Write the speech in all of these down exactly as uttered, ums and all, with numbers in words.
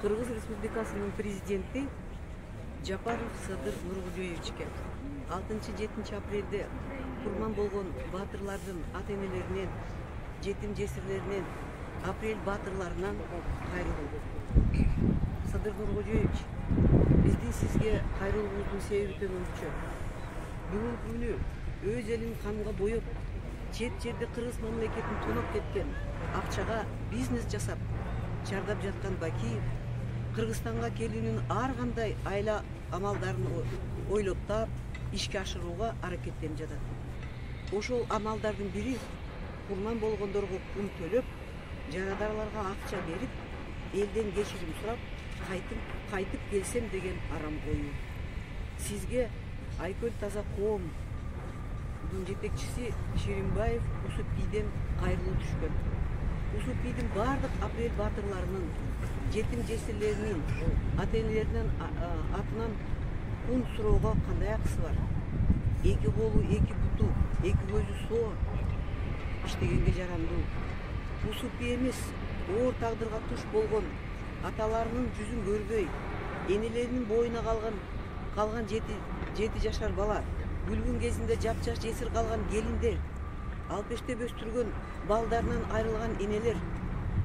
Кыргыз Республикасынын президенти Жапаров Садыр Нуркожоевичке алтынчы-жетинчи апрелде курман болгон баатырлардын ата-энелеринен, жетим жесирлеринен, апрель баатырларынан кайрылуу. Садыр Нуркожоевич, биздин сизге кайрылуубуздун себеби төмөнчө. Бүгүнкү күнү өз элин канга боеп, чет жерде кыргыз мамлекетин тоноп кеткен, акчага бизнес жасап чардап жаткан Бакиев Кыргызстанга келүүнүн ар кандай айла амалдарын ойлоп таап, ишке ашырууга аракеттенип жатат. Ошол амалдардын бири курман болгондорго пул төлөп, жарадарларга акча берип, элден кечирим сурап, кайтып кайтып келсем деген арам коюу. Сизге Айкөл Таза коомдун жетекчиси Ширинбаев Усупбийден кайрылуу түшкөн. Усупбийдин бардык апрель баатырларынын, жетим жесирлеринин, ата-энелеринин атынан кун суроого кандай акысы бар? Эки колу, эки буту, эки көзү соо иштегенге жарандуу. Усупбий эмес, оор тагдырга туш болгон, аталарынын жүзүн көрбөй, энелеринин боюна калган калган жети жети жашар бала, бүлгүн кезинде жапжаш жесир калган келиндер, алпештеп өстүргөн балдарынан айрылган энелер,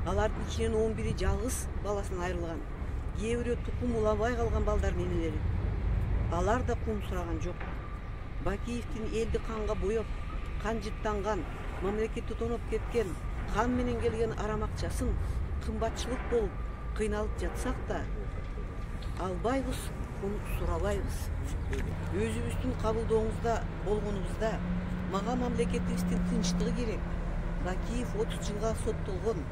алардын ичинен он бири жалгыз баласынан айрылган, кээ бирөө тукум уламай калган балдардын энелери. Алар да кум сураган жок. Бакиевдин элди канга боеп, кан жыттанган, мамлекетти тоноп кеткен, кан менен келген арам акчасын кымбатчылык болуп кыйналып жатсак да, албайбыз, сурабайбыз. Өзүбүздүн кабылдооңузда болгонубузда мага мамлекетибиздин тынчтыгы керек. Бакиев отуз жылга соттолгон,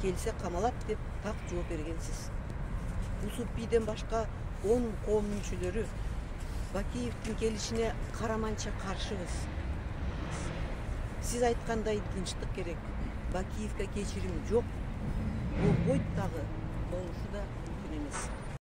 келсе камалат деп так жооп бергенсиз. Усупбийден башка он коом мүчөлөрү Бакиевдин келишине караманча каршыбыз. Сиз айткандай тынчтык керек. Бакиевге кечирим жок. Болбойт дагы, болушу да мүмкүн эмес.